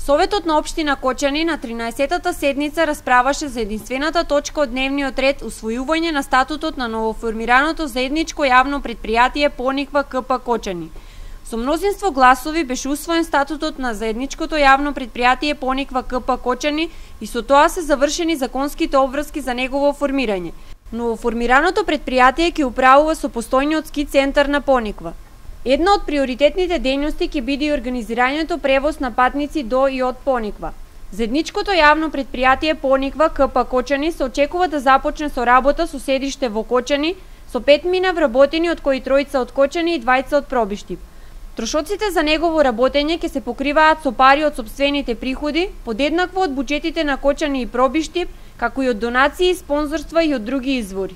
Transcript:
Советот на општина Кочани на 13-тата седница расправаше за единствената точка од дневниот ред усвојување на статутот на новоформираното заедничко јавно предпријатие Пониква КП Кочани. Со мнозинство гласови беше усвоен статутот на заедничкото јавно предпријатие Пониква КП Кочани и со тоа се завршени законските обврски за негово формирање. Новоформираното предпријатие ќе управува со постојниот ски центар на Пониква. Една од приоритетните дејности ќе биде и организирањето превоз на патници до и од Пониква. Заедничкото јавно предпријатие Пониква КП Кочани се очекува да започне со работа со седиште во Кочани, со 5 вработени, од кои 3 од Кочани и 2 од Пробиштип. Трошоците за негово работење ќе се покриваат со пари од сопствените приходи, подеднакво од буџетите на Кочани и Пробиштип, како и од донации, спонзорства и од други извори.